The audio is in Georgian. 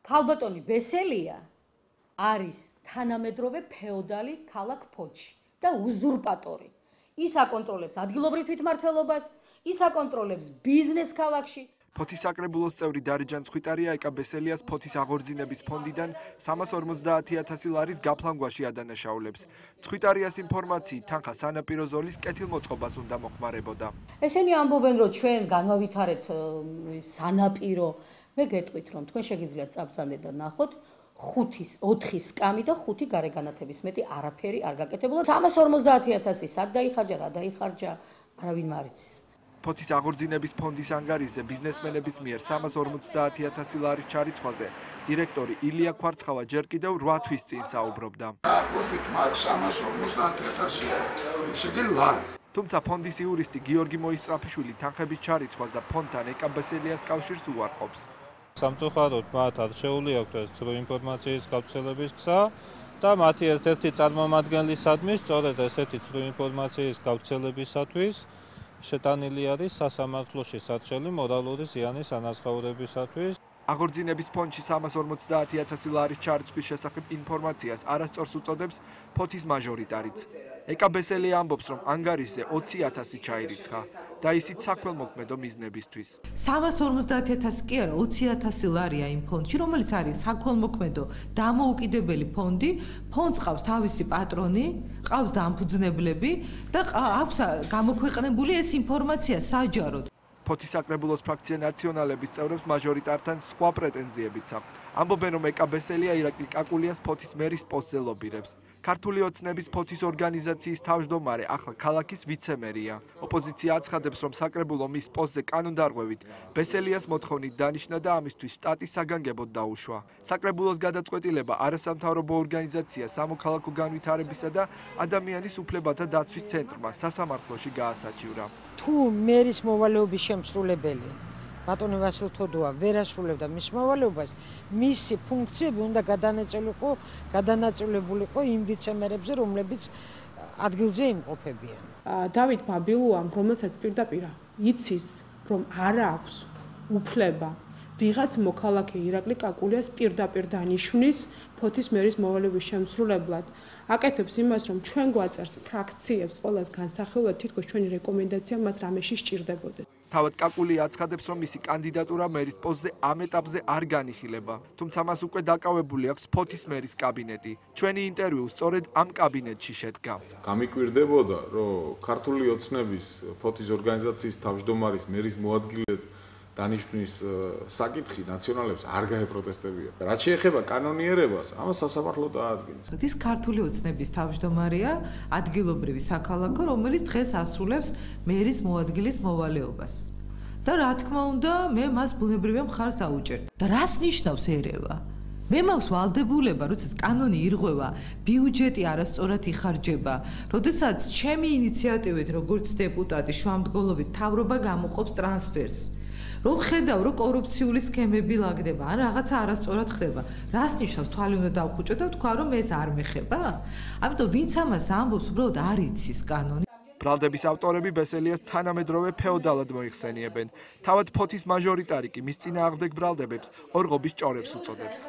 ქალბატონი ბესელია არის თანამედროვე ფეოდალი ქალაქ ფოთში და უზურპატორი. ის აკონტროლებს ადგილობრივ თვითმმართველობას, ის აკონტროლებს ბიზნეს ქალაქში. ფოთის საკრებულოს წევრი დარეჯან ცხვიტარია ეკა ბესელიას ფოთის აღორძინების ფონდიდან 350.000 ლარის გაფლანგვაში ადანაშაულებს. ცხვიტარიას ინფორმაციით თანხა სანაპირო ზოლის კეთილმოწყობას უნდა მოხმარებოდა. ესენი ამბობენ, რომ ჩვენ განვავითარეთ სანაპირო. მე გეტყვით, რომ თქვენ შეგიძლიათ წაბრძანდეთ და ნახოთ 4 სკამი და 5 გარეგანათების მეტი არაფერი არ გაკეთებულა. 350.000 სად დაიხარჯა, რა დაიხარჯა, არავინ არ იცის. ფოთის აღორძინების ფონდის ანგარიშზე ბიზნესმენების მიერ 350.000 ლარის ჩარიცხვაზე დირექტორი ილია ქვარცხავა ჯერ კიდევ 8 თვის წინ საუბრობდა. დაახლოებით 350.000 ისე ლარი. თუმცა ფონდის იურისტი გიორგი მოისწრაფიშვილი თანხების ჩარიცხვას და ფონდთან ეკა ბესელიას კავშირს უარყოფს. სამწუხაროდ მათ არჩეული აქვთ ეს ცრუ ინფორმაციის გავრცელების გზა და მათი ერთ-ერთი წარმომადგენლისადმი სწორედ ესეთი ცრუ ინფორმაციის გავრცელებისათვის შეტანილი არის სასამართლოში საჭრელი მორალური ზიანის ანაზღაურებისათვის. აღორძინების ფონდში 350.000 ლარის ჩარიცხვის შესახებ ინფორმაციას არასწორს უწოდებს ფოთის მაჟორიტარიც. ეკა ბესელია ამბობს, რომ ანგარიშზე 20.000 ჩაირიცხა და ისიც საქველმოქმედო მიზნებისთვის. 350.000 კი არა, 20.000 ლარია იმ ფონდში, რომელიც არის საქველმოქმედო დამოუკიდებელი ფონდი. ფონდს ყავს თავისი პატრონი, ყავს დამფუძნებლები და აქვს გამოქვეყნებული ეს ინფორმაცია საჯაროდ. ფოთის საკრებულოს ფრაქცია ნაციონალების წევრებს მაჟორიტართან სხვა პრეტენზიებიც აქვთ. ამბობენ, რომ ეკა ბესელია ირაკლი კაკულიას ფოთის მერის პოსტზე ლობირებს. ქართული ოცნების ფოთის ორგანიზაციის თავმჯდომარე ახლა ქალაქის ვიცემერია. ოპოზიცია აცხადებს, რომ საკრებულო მის პოსტზე კანონდარღვევით ბესელიას მოთხოვნით დანიშნა და ამისთვის შტატის საგანგებოდ დაუშვა. საკრებულოს გადაწყვეტილება არასამთავრობო ორგანიზაცია სამოქალაქო განვითარებისა და ადამიანის უფლებათა დაცვის ცენტრმა სასამართლოში გაასაჩივრა. თუ მერის მოვალეობის შემსრულებელი ბატონი ვასილ თოდუა ვერ ასრულებდა მის მოვალეობას, მისი ფუნქციები უნდა გადანაწილებულიყო იმ ვიცემერებზე, რომლებიც ადგილზე იმყოფებიან. დავით ბაბილუამ, რომელსაც პირდაპირ იცის, რომ არა აქვს უფლება ვიღაც მოქალაქე ირაკლი კაკულიას პირდაპირ დანიშნის ფოთის მერის მოვალეობის შემსრულებლად, აკეთებს იმას, რომ ჩვენ გვაწერს ფრაქციებს ყოველას განსახილვად, თითქოს ჩვენი რეკომენდაცია მას რამეში სჭირდებოდეს. თავად კაკულია აცხადებს, რომ მისი კანდიდატურა მერის პოსტზე ამ ეტაპზე არ განიხილება, თუმცა მას უკვე დაკავებული აქვს ფოთის მერის კაბინეტი. ჩვენი ინტერვიუ სწორედ ამ კაბინეტში შედგა. გამიკვირდებოდა, რომ ქართული ოცნების ფოთის ორგანიზაციის თავმჯდომარის მერის მოადგილედ დანიშნვის საკითხი ნაციონალებს არ გაეპროტესტებია. რაც შეეხება კანონიერებას, ამას სასამართლო დაადგენს. ის ქართული ოცნების თავმჯდომარეა, ადგილობრივი საქალაქო, რომელიც დღეს ასრულებს მერის მოადგილის მოვალეობას. და რა თქმა უნდა, მე მას ბუნებრივია მხარს დავუჭერდი. და რას ნიშნავს ერევა? მე მაქვს ვალდებულება, როდესაც კანონი ირღვევა, ბიუჯეტი არასწორად იხარჯება, როდესაც ჩემი ინიციატივით, როგორც დეპუტატი, შუამდგომლობით მთავრობა გამოყოფს ტრანსფერს. რომ ხედავ, რომ კორუფციული სქემები ლაგდება, ან რაღაცა არასწორად ხდება. რას ნიშნავს თვალი უნდა დავხუჭო და თქვა, რომ ეს არ მეხება? ამიტომ ვინც ამას ამბობს, უბრალოდ არ იცის კანონი. ბრალდების ავტორები ბესელიას თანამედროვე ფეოდალად მოიხსენიებენ. თავად ფოთის მაჟორიტარი კი მის წინააღმდეგ ბრალდებებს ორღობის ჭორებს უწოდებს.